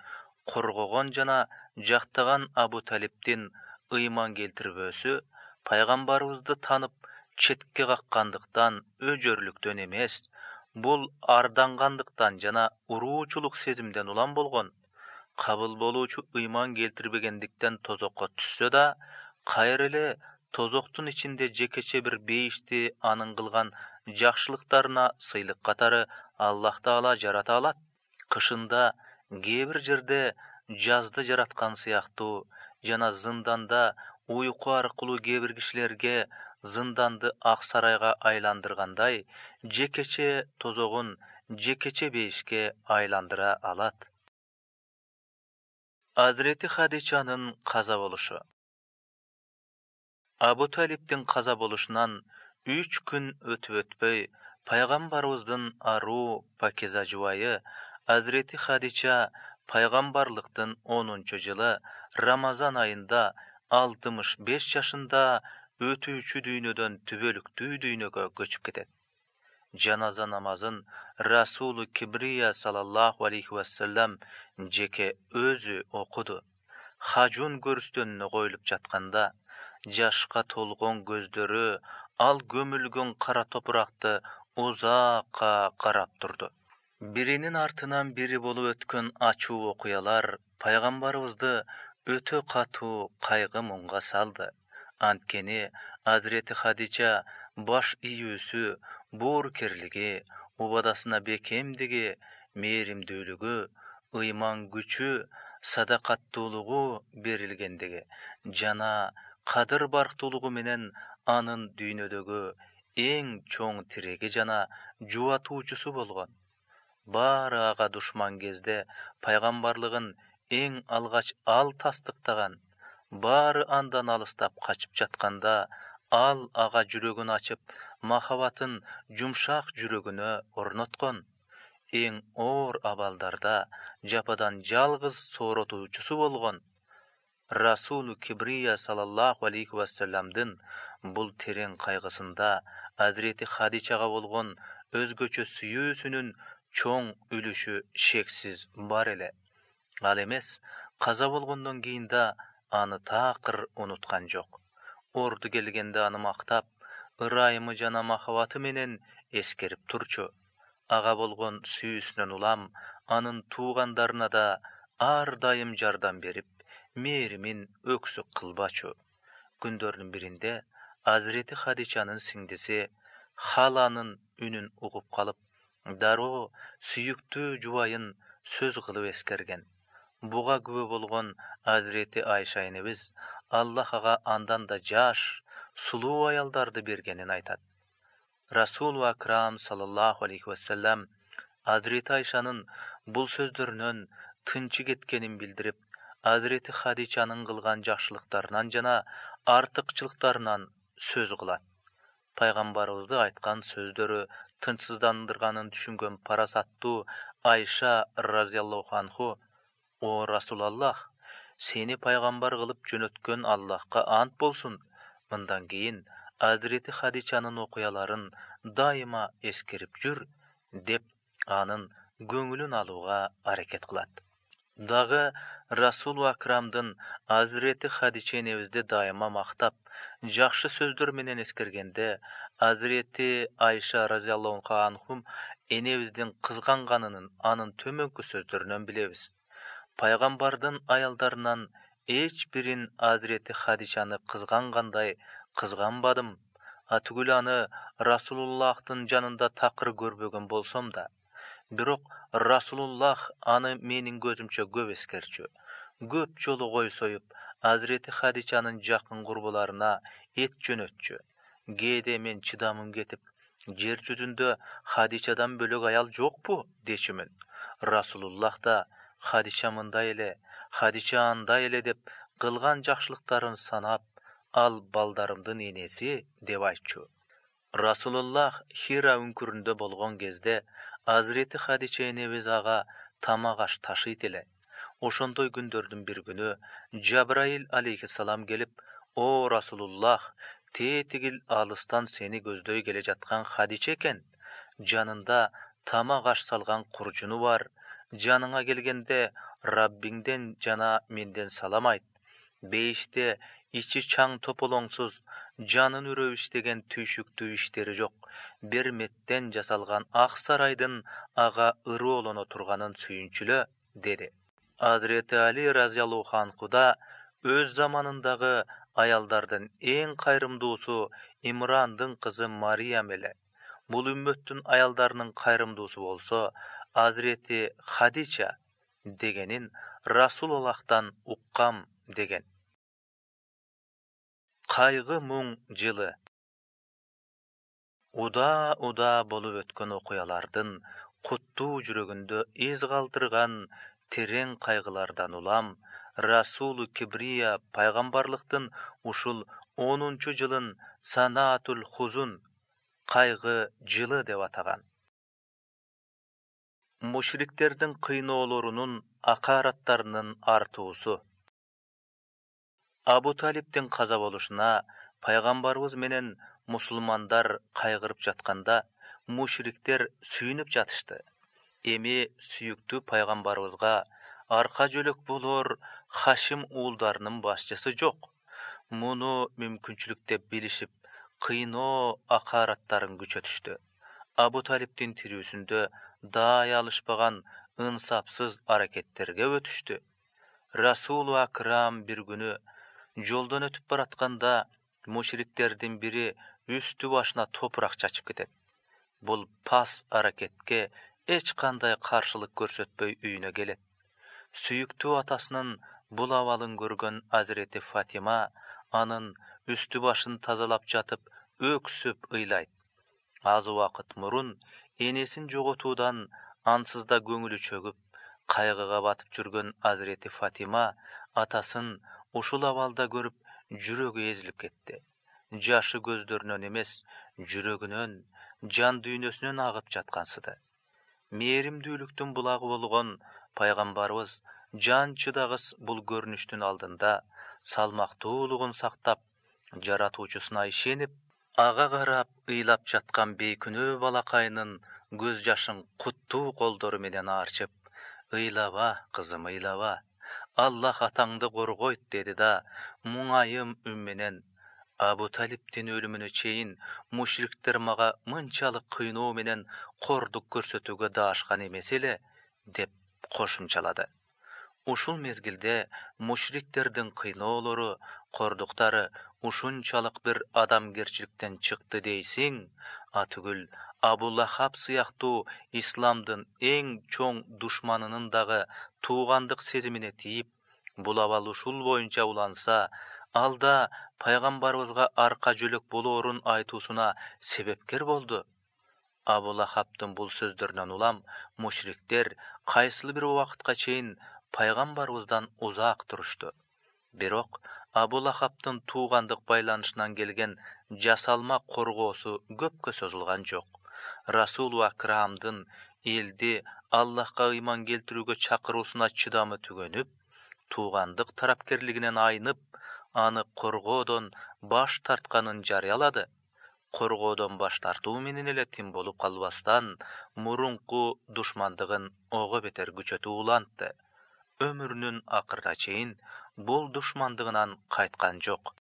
коргогон жана жактаган Абу Талибдин ыйман келтирбөөсү пайгамбарыбызды танып четке каккандыктан, өжөрлүктөн эмес, бул ардангандыктан жана уруучулук сезимден улам болгон. Кабыл болуучу ыйман келтирбегендиктен тозокко түшсө да, кайра эле тозоктун ичинде жекече бир бейишти анын кылган жакшылыктарына сыйлык катары Аллах Таала жарата алат. Кышында кээ бир жерде жазды жараткан сыяктуу жана зынданда уйку аркылуу кээ бир кишилерге зынданды ак сарайга айландыргандай, жекече тозогун жекече бейишке айландыра алат. Азирети Хадичанын каза болушу. Абу Талибдин каза болушунан үч күн өтүп өтпөй, пайгамбарыбыздын аруу пакиза жубайы Азирети Хадича пайгамбарлыктын онунчу жылы Рамазан айында алтымыш беш жашында өтүүчү дүйнөдөн түбөлүктүү дүйнөгө көчүп кетет. Жаназа намазын Расулу Кибрия саллаллаху алейхи вассалам жеке өзү окуду. Хажун көрүстөнүнө коюлуп жатканда, жашка толгон көздөрү ал көмүлгөн кара топуракты узакка карап турду. Биринин артынан бири болуп өткөн ачуу окуялар пайгамбарыбызды өтө катуу кайгы муңга салды. Анткени Азирети Хадича баш ийүүсү, боорукерлиги, убадасына бекемдиги, мээримдүүлүгү, ыйман күчү, садакаттуулугу берилгендиги жана кадыр барктуулугу менен анын дүйнөдөгү эң чоң тиреги жана жубатуучусу болгон. Баары ага душман кезде пайгамбарлыгын эң алгач ал тастыктаган. баары андан алыстап качып жатканда, ал ага жүрөгүн ачып, махабатын жумшак жүрөгүнө орноткон. Эң оор абалдарда жападан жалгыз сооротуучусу болгон. Расулу Кибрия саллаллаху алейхи вассаламдын бул терең кайгысында Азирети Хадичага болгон өзгөчө сүйүүсүнүн чоң үлүшү шексиз бар эле. Ал эмес, каза болгондон кийин да аны такыр унуткан жок. Орду келгенде аны мактап, ырайымы жана махабаты менен эскерип турчу. Ага болгон сүйүүсүнөн улам анын туугандарына да ар дайым жардам берип, мээримин өксүк кылбачу. Күндөрдүн биринде Азирети Хадичанын сиңдиси Халанын үнүн угуп калып, дароо сүйүктүү жубайын сөз кылып эскерген. Буга күбө болгон Азирети Айша энебиз Аллах ага андан да жаш, сулуу аялдарды бергенин айтат. Расулу Акрам саллаллаху алейхи вассалам Азирети Айшанын бул сөздөрүнөн тынчы кеткенин билдирип, Азирети Хадичанын кылган жакшылыктарынан жана артыкчылыктарынан сөз кылат. Пайгамбарыбызды айткан сөздөрү тынчсыздандырганын түшүнгөн парасаттуу Айша разияллаху анху: "О Расулаллах, сени пайгамбар кылып жөнөткөн Аллахка ант болсун. Мындан кийин Азирети Хадичанын окуяларын дайыма эскерип жүр", деп анын көңүлүн алууга аракет кылат. Дагы Расулу Акрамдын Азирети Хадича энебизди дайыма мактап, жакшы сөздөр менен эскергенде, Азирети Айша разияллаху анхум энебиздин кызганганын анын төмөнкү сөздөрүнөн билебиз. Пайгамбардын аялдарынан эч бирин Азирети Хадичаны кызгангандай кызганбадым. Атүгүл аны Расулуллахтын жанында такыр көрбөгөн болсом да, бирок Расулуллах аны менин көзүмчө көп эскерчү. Көп жолу кой союп, Азирети Хадичанын жакын курбуларына эт жөнөтчү. Кээде мен чыдамым кетип, жер жүзүндө Хадичадан бөлөк аял жокпу дечүмүн. Расулуллах да Хадича мындай эле, Хадича андай эле деп кылган жакшылыктарын санап, ал балдарымдын энеси деп айтчу. Расулуллах Хира үңкүрүндө болгон кезде Азирети Хадича энебиз ага тамак аш ташыйт эле. Ошондой күндөрдүн бир күнү Жабраил алейхиссалам келип: "О Расулуллах, тетигил алыстан сени көздөй келе жаткан Хадича экен. Жанында тамак аш салган куржуну бар. Жаныңа келгенде Раббиңден жана менден салам айт. Бейиште ичи чаң тополоңсуз, жанын үрөп иштеген түйшүктүү иштери жок, бир меттен жасалган ак сарайдын ага ырыолоно турганын сүйүнчүлө", деди. Азирети Али разияллаху анху да өз заманындагы аялдардын эң кайрымдуусу Имрандын кызы Мариям эле. Бул үммөттүн аялдарынын кайрымдуусу болсо Азирети Хадича дегенин Расулуллахтан уккам деген. Кайгы муң жылы. Уда-уда болуп өткөн окуялардын куттуу жүрөгүндө из калтырган терең кайгылардан улам Расулу Кибрия пайгамбарлыктын ушул онунчу жылын Санаатул Хузун, кайгы жылы деп атаган. Мушриктердин кыйноолорунун, акараттарынын артуусу. Абу Талиптин каза болушуна пайгамбарыбыз менен мусулмандар кайгырып жатканда, мушриктер сүйүнүп жатышты. Эми сүйүктүү пайгамбарыбызга арка жөлөк болор Хашим уулдарынын башчысы жок. Муну мүмкүнчүлүк деп билишип, кыйноо акараттарын күчөтүштү. Абу Талиптин тирүүсүндө даай алышпаган ынсапсыз аракеттерге өтүштү. Расулу Акрам бир күнү жолдон өтүп баратканда мушриктердин бири үстү башына топурак чачып кетет. Бул пас аракетке эч кандай каршылык көрсөтпөй үйүнө келет. Сүйүктүү атасынын бул абалын көргөн Азирети Фатима анын үстү башын тазалап жатып өксүп ыйлайт. Аз убакыт мурун энесин жоготуудан ансызда көңүлү чөгүп, кайгыга батып жүргөн Азирети Фатима атасын ушул абалда көрүп жүрөгү эзилип кетти. Жашы көздөрүнөн эмес, жүрөгүнөн, жан дүйнөсүнөн агып жаткансыды. Мээримдүүлүктүн булагы болгон пайгамбарыбыз жан чыдагыс бул көрүнүштүн алдында салмактуулугун сактап, жаратуучусуна ишенип, ага карап ыйлап жаткан бейкүнөө балакайынын көз жашын куттуу колдору менен аарчып, «Ыйлаба, кызым, ыйлаба. Аллах атаңды коргойт», деди да, муңайым үн менен, «Абу Талиптин өлүмүнө чейин мушриктер мага мынчалык кыйноо менен кордук көрсөтүүгө даашкан эмес эле», деп кошумчалады. Ушул мезгилде мушриктердин кыйноолору, кордуктары ушунчалык бир адамгерчиликтен чыкты дейсиң, атүгүл Абу Лахаб сыяктуу исламдын эң чоң душманынын дагы туугандык сезимине тийип, бул абал ушул боюнча уланса, алда пайгамбарыбызга арка жөлөк болоорун айтуусуна себепкер болду. Абу Лахабдын бул сөздөрүнөн улам мушриктер кайсыл бир убакытка чейин пайгамбарыбыздан узак турушту. Бирок Абу Лахабдын туугандык байланышынан келген жасалма коргоосу көпкө созулган жок. Расул Акрамдын элди Аллахка ыйман келтирүүгө чакыруусуна чыдамы түгөнүп, туугандык тарапкерлигинен айнып, аны коргоодон баш тартканын жарыялады. Коргоодон баш тартуу менен эле тим болуп калбастан, мурунку душмандыгын ого бетер күчөтүп улантты. Өмүрүнүн акырына чейин бул душмандыгынан кайткан жок.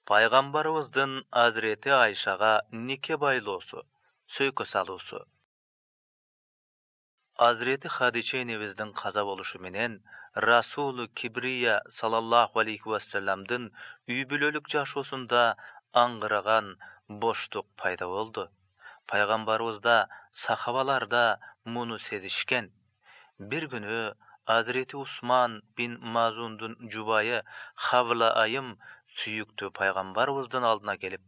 Пайгамбарыбыздын Азирети Айшага нике байлоосу, сөйкө салуусу. Азирети Хадича энебиздин каза болушу менен Расулу Кибрия саллаллаху алейхи вассаламдын үй бүлөлүк жашоосунда аңгыраган боштук пайда болду. Пайгамбарыбыз да, сахабалар да муну сезишкен. Бир күнү Азирети Усман бин Мазундун жубайы Хавла айым сүйүктүү пайгамбарыбыздын алдына келип,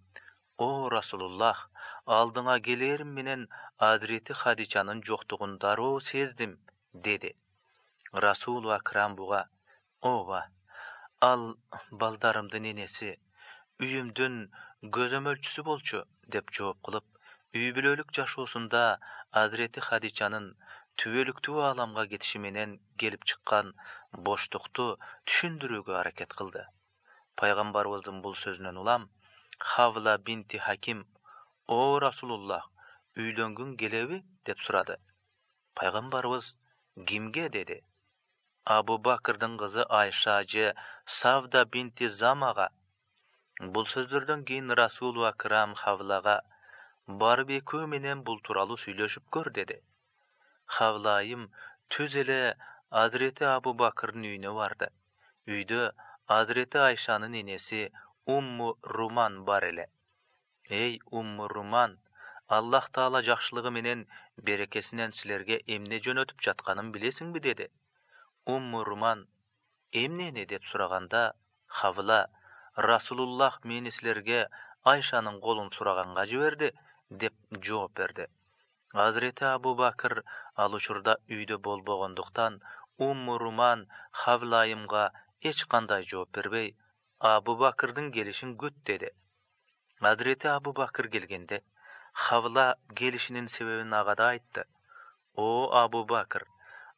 «О Расулуллах, алдыңа келерим менен Азирети Хадичанын жоктугун дароо сездим», деди. Расул Акрам буга, «Ооба, ал балдарымдын энеси, үйүмдүн көзөмөлчүсү болчу», деп жооп кылып, үй бүлөлүк жашоосунда Азирети Хадичанын түбөлүктүү ааламга кетиши менен келип чыккан боштукту түшүндүрүүгө аракет кылды. Пайгамбарыбыздын бул сөзүнөн улам Хавла бинти Хаким, «О Расулуллах, үйлөнгүң келеби?» деп сурады. Пайгамбарыбыз «Кимге?» деди. Абу Бакырдын кызы Айша же Савда бинти Замага. Бул сөздөрдөн кийин Расул Акрам Хавлага, «Барып экөө менен бул тууралуу сүйлөшүп көр», деди. Хавла айым түз эле Азирети Абу Бакырдын үйүнө барды. Үйдө Азирети Айшанын энеси Умму Руман бар эле. «Эй Умму Руман, Аллах Таала жакшылыгы менен берекесинен силерге эмне жөнөтүп жатканын билесиңби?» деди. Умму Руман «Эмнени?» деп сураганда, Хавла, «Расулуллах мени силерге Айшанын колун сураганга жиберди», деп жооп берди. Азирети Абу Бакыр ал учурда үйдө болбогондуктан, Умму Руман Хавла айымга эч кандай жооп бербей, Абу Бакырдын келишин күт, деди. Азирети Абу Бакыр келгенде, Хавла келишинин себебин ага да айтты. «О Абу Бакыр,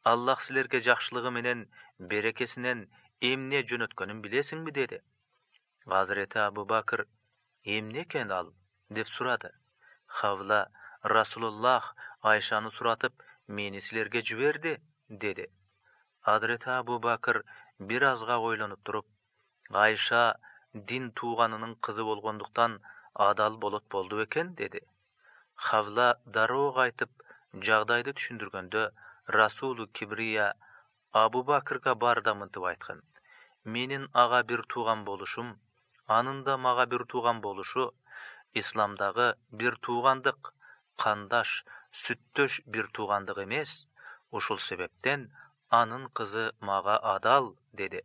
Аллах силерге жакшылыгы менен берекесинен эмне жөнөткөнүн билесиңби?» деди. Азирети Абу Бакыр «Эмне экен ал?» деп сурады. Хавла «Расулуллах Айшаны суратып, мени силерге жиберди», деди. Азирети Абу Бакыр бир азга ойлонуп туруп, «Айша дин тууганынын кызы болгондуктан адал болот болду бекен?» деди. Хавла дароо кайтып жагдайды түшүндүргөндө, Расулу Кибрия Абу Бакырга бар да мынтип айткан: «Менин ага бир тууган болушум, анын да мага бир тууган болушу исламдагы бир туугандык, кандаш, сүттөш бир туугандык эмес. Ушул себептен анын кызы мага адал», деди.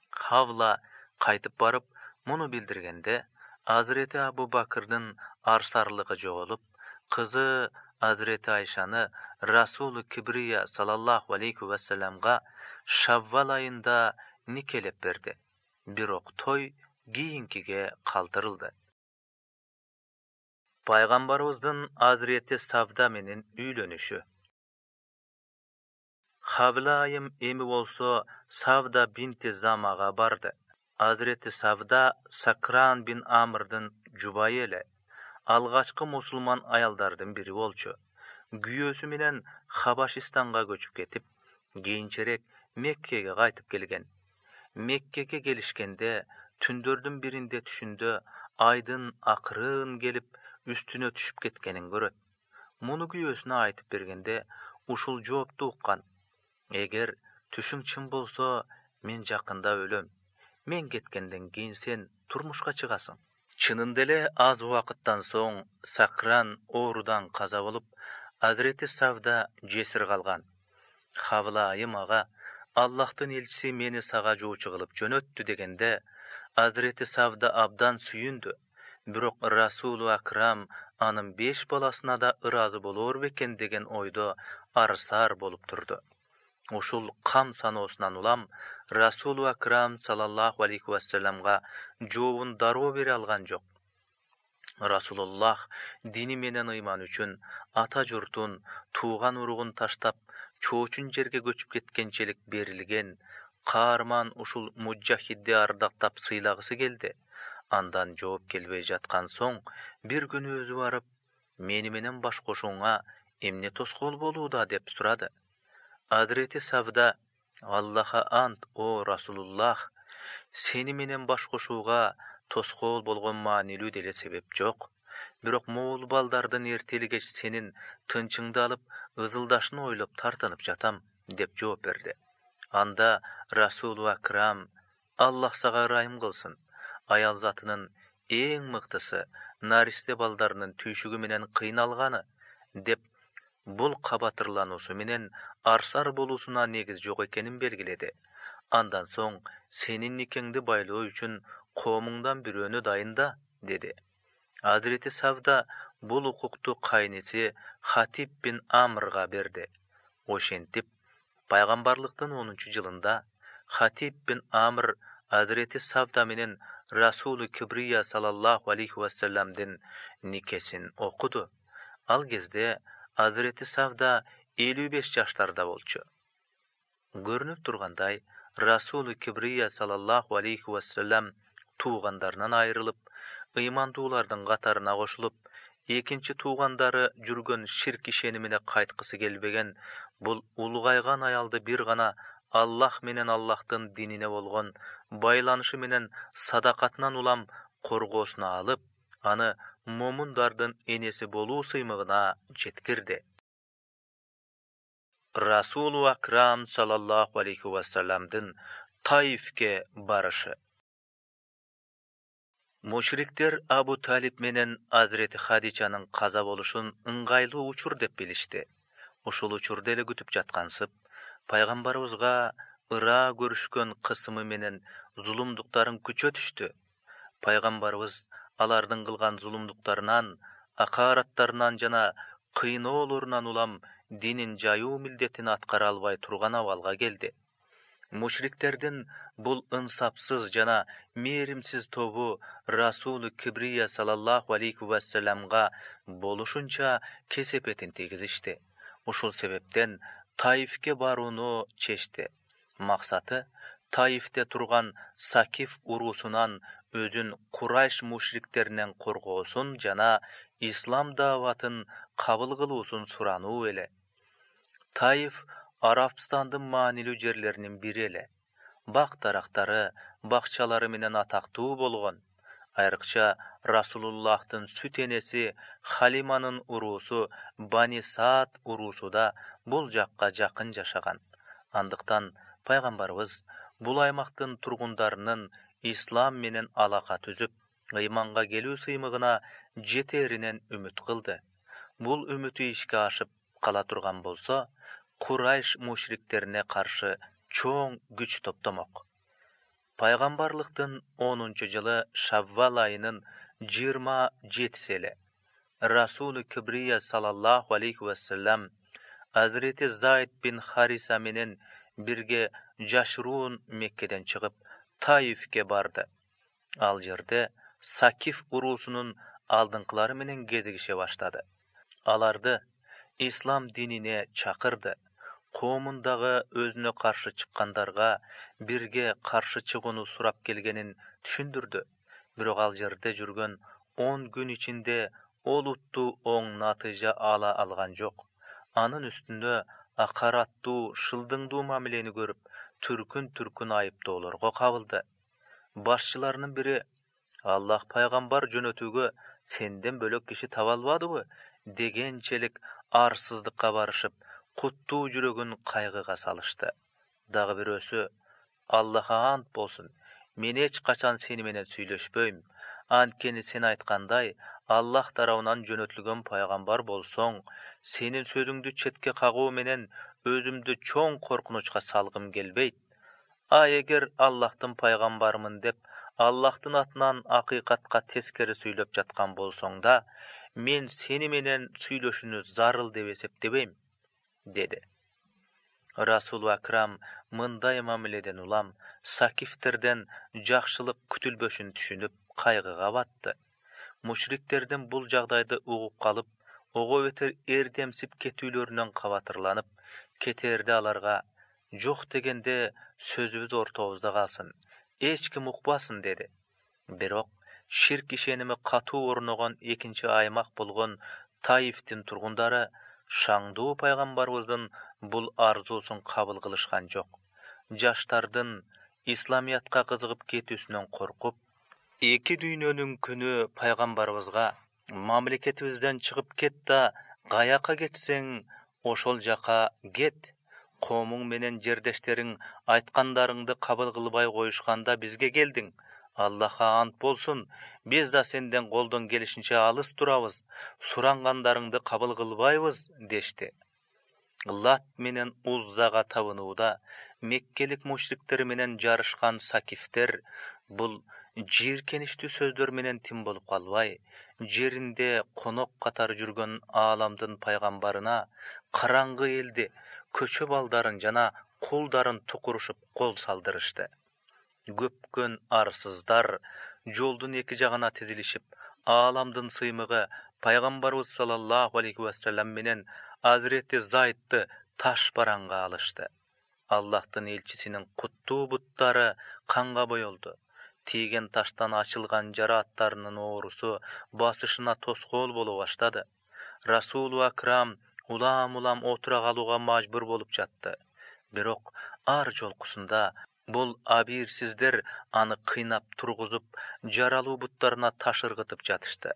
Хавла кайтып барып муну билдиргенде, Азирети Абу Бакырдын арсарлыгы жоголуп, кызы Hazreti Ayşаны Rasulu Kibriya sallallahu aleyhi ve sellemga Şavval ayında nikelep berdi. Birok toy kийинкиге kaldırıldı. Paygambarımыздın Hazreti Savda menен üylönüşü. Havlayım emi bolsa Savda binti Zamaga bardı. Hazreti Savda Sakran bin Amr'dın jubayı ele. Algaçkı musulman ayaldardın biri bolçu. Güyösü menen Habaşistanга göçüp ketip, keyinçerek Mekke'ge qaytıp kelgen. Mekke'ge gelişkende tündördün birinde түшүндө aydın akırın gelip üstüne түшүp ketkenin göröt. Munu güyösüne aytıp bergende uşul жоопtu уккан. Eger түшүң чын bolsa, men жакында өлөm. Men кеткенден кийин сен турмушка чыгасың. Чынында эле аз убакыттан соң Сакран оорудан каза болуп, Hazreti Savda жесир калган. Хавлайым ага Аллахтын элчиси мени сага жоочу кылып жөнөттү дегенде, Hazreti Savda абдан сүйүндү. Бирок Расулу Акрам анын беш баласына да ыраазы болор бекен деген ойдо арсар болуп турду. Ушул кам саноосунан улам Расулу Акрам саллаллаху алейхи ва салламга жообун дароо бере алган жок. Расулуллах дини менен ыйман үчүн ата журтун, тууган уругун таштап, чоочун жерге көчүп кеткенчелик берилген, каарман ушул мужахидди ардактап сыйлагысы келди. Андан жооп келбей жаткан соң, бир күнү өзү барып, мени менен баш кошууңа эмне тоскоол болууда деп сурады. Hazreti Savda, Аллаха ант, о Расулуллах, сени менен баш кошууга тоскоол болгон маанилүү деле себеп жок. Бирок моул балдардын эртели кеч сенин тынчыңды алып, ызылдашын ойлоп тартынып жатам, деп жооп берди. Анда Расулу Акрам, Аллах сага ырайым кылсын, аял затынын эң мыктысы наристе балдарынын түйшүгү менен кыйналганы, деп бул кабатырлануусу менен арсар болуусуна негиз жок экенин белгиледи. Андан соң сенин никеңди байлоо үчүн коомуңдан бирөөнү дайында, деди. Hazreti Savda бул укукту кайниси Хатиб бин Амрга берди. Ошентип, пайгамбарлыктын онунчу жылында Хатиб бин Амр Hazreti Savda менен Расулу Кибрия саллаллаху алейхи ва салламдын никесин окуду. Ал кезде Hazreti Savda элүү беш жаштарда болчу. Көрүнүп тургандай, Расулу Кибрия саллаллаху алейхи ва саллам туугандарынан айрылып, ыймандуулардын катарына кошулуп, экинчи туугандары жүргөн ширк ишенимине кайткысы келбеген бул улгайган аялды бир гана Аллах менен Аллахтын динине болгон байланышы менен садакатынан улам коргоосуна алып, аны момундардын энеси болуу сыймыгына жеткирди. Расулу Акрам саллаллаху алейхи ва салламдын Таифке барышы. Мушриктер Абу Талиб менен Hazreti Хадичанын каза болушун ыңгайлуу учур деп билишти. Ушул учурду эле күтүп жаткансып, пайгамбарыбызга ыра көрүшкөн кысымы менен зулумдуктарын күчө түштү. Пайгамбарыбыз алардын кылган зулумдуктарынан, акараттарынан жана кыйноолорунан улам динин жайуу милдетин аткара албай турган абалга келди. Мушриктердин бул ынсапсыз жана мээримсиз тобу Расулу Кибрия саллаллаху алейхи ва салламга болушунча кесепетин тийгизишти. Ушул себептен Таифке барууну чечти. Максаты Таифте турган Сакиф уруусунан өзүн Курайш мушриктеринен коргоосун жана ислам дааватын кабыл кылуусун сурануу эле. Таиф Арабстандын маанилүү жерлеринин бири эле. Бак дарактары, бакчалары менен атактуу болгон. Айрыкча Расулуллахтын сүт энеси Халиманын уруусу Бани Саад уруусу да бул жакка жакын жашаган. Андыктан пайгамбарыбыз бул аймактын тургундарынын ислам менен алака түзүп, ыйманга келүү сыймыгына жетеринен үмүт кылды. Бул үмүтү ишке ашып кала турган болсо, Курайш мушриктерине каршы чоң күч топтомок. Пайгамбарлыктын онунчу жылы Шаввал айынын жыйырма жетиси эле Расулу Кибрия салаллаху алейхи вассалам Азирети Зайд бин Хариса менен бирге жашыруун Меккеден чыгып Таифке барды. Ал жерде Сакиф уруусунун алдыңкылары менен кезигише баштады. Аларды ислам динине чакырды. Коомундагы өзүнө каршы чыккандарга бирге каршы чыгууну сурап келгенин түшүндүрдү. Бирок ал жерде жүргөн он күн ичинде олуттуу оң натыйжа ала алган жок. Анын үстүнө акараттуу, шылдыңдуу мамилени көрүп, түркүн-түркүн айыптоолорго кабылды. Башчыларынын бири: «Аллах пайгамбар жөнөтүүгө сенден бөлөк киши таба албадыбы?» дегенчелик арсыздыкка барышып, куттуу жүрөгүн кайгыга салышты. Дагы бирөөсү: «Аллахка ант болсун, мен эч качан сени менен сүйлөшпөйм. Анткени сен айткандай, Аллах тарабынан жөнөтүлгөн пайгамбар болсоң, сенин сөзүңдү четке кагуу менен өзүмдү чоң коркунучка салгым келбейт. А эгер Аллахтын пайгамбарымын деп, Аллахтын атынан акыйкатка тескери сүйлөп жаткан болсоң да, мен сени менен сүйлөшүүнү зарыл деп эсептебейм», деди. Расул Акрам мындай мамиледен улам Сакифтерден жакшылык күтүлбөшүн түшүнүп, кайгыга батты. Мушриктердин бул жагдайды угуп калып, ого бетер эрдемсип кетүүлөрүнөн кабатырланып, кетерде аларга: «Жок дегенде сөзүбүз ортобузда калсын, эч ким укпасын», деди. Бирок ширк ишеними катуу орногон экинчи аймак болгон Таифтин тургундары шаңдуу пайгамбарыбыздын бул арзуусун кабыл кылышкан жок. Жаштардын исламиятка кызыгып кетүүсүнөн коркуп, эки дүйнөнүн күнү пайгамбарыбызга: «Мамлекетибизден чыгып кет да, каяка кетсең, ошол жака кет. Коомуң менен жердештериң айткандарыңды кабыл кылбай коюшканда бизге келдиң. Аллахка ант болсун, биз да сенден колдон келишинче алыс турабыз. Сурангандарыңды кабыл кылбайбыз», дешти. Лат менен Уззага табынууда меккелик мушриктер менен жарышкан Сакифтер бул жийиркеничтүү сөздөр менен тим болуп калбай, жеринде конок катары жүргөн ааламдын пайгамбарына караңгы элди, көчө балдарын жана кулдарын тукурушуп кол салдырышты. Көпкөн арсыздар жолдун эки жагына тизилишип, ааламдын сыймыгы пайгамбарыбыз саллаллаху алейхи вассалам менен Азирети Зайдты таш бараңга алышты. Аллахтын элчисинин куттуу буттары канга боелду. Тийген таштан ачылган жара аттарынын оорусу басышына тоскоол боло баштады. Расулу Акрам улам-улам отура калууга мажбур болуп жатты. Бирок ар жолкусунда бул абийирсиздер аны кыйнап тургузуп, жаралуу буттарына таш ыргытып жатышты.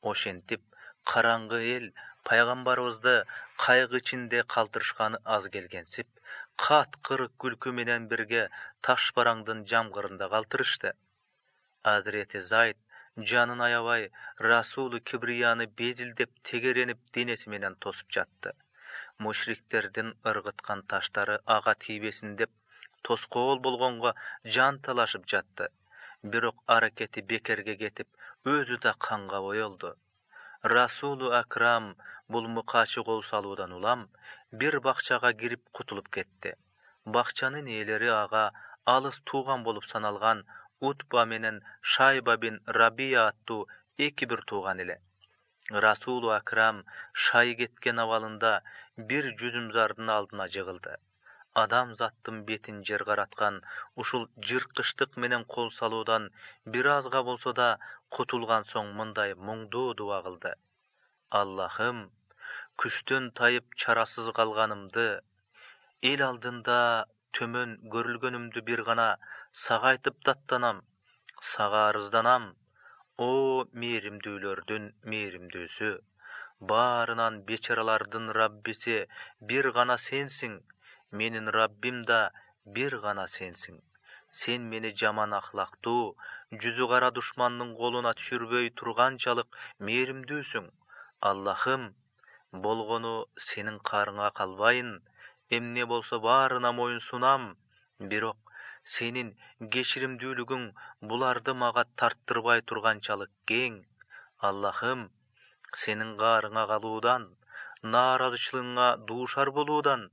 Ошентип, караңгы эл пайгамбарыбызды кайгы ичинде калтырышканы аз келгенсип, каткыр күлкү менен бирге таш бараңдын жамгырында калтырышты. Азирети Зайд жанын аябай Расулу Кибрияны безилдеп, тегеренип денеси менен тосуп жатты. Мушриктердин ыргыткан таштары ага тийбесин деп тоскоол болгонго жан талашып жатты. Бирок аракети бекерге кетип, өзү да канга боелду. Расулу Акрам бул мыкаачы кол салуудан улам бир бакчага кирип кутулуп кетти. Бакчанын ээлери ага алыс тууган болуп саналган Утба менен Шайба бин Рабия аттуу эки бир тууган эле. Расулу Акрам шай кеткен абалында бир жүзүмзардын алдына жыгылды. Адам заттын бетин жер караткан ушул жыркычтык менен кол салуудан бир азга болсо да кутулган соң мындай муңдуу дуа кылды: «Аллахым, күчтөн тайып чарасыз калганымды, эл алдында төмөн көрүлгөнүмдү бир гана сага айтып даттанам, сага арызданам. О мээримдүүлөрдүн мээримдүүсү, баарынан бечаралардын Раббиси бир гана сенсиң, менин Раббим да бир гана сенсиң. Сен мени жаман ахлактуу, жүзү кара душмандын колуна түшүрбөй турганчалык мээримдүүсүң. Аллахым, болгону сенин карыңа калбайын, эмне болсо баарына моюн сунам. Бирок сенин кечиримдүүлүгүң буларды мага тарттырбай турганчалык кең. Аллахым, сенин каарыңа калуудан, нааразычылыгыңа дуушар болуудан,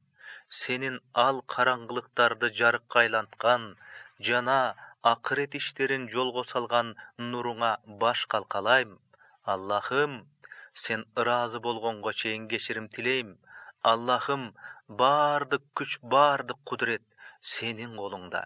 сенин ал караңгылыктарды жарыкка айланткан жана акырет иштерин жолго салган нуруңа баш калкалайм. Аллахым, сен ыраазы болгонго чейин кечирим тилейм. Аллахым, баардык күч, баардык кудурет сенин колуңда.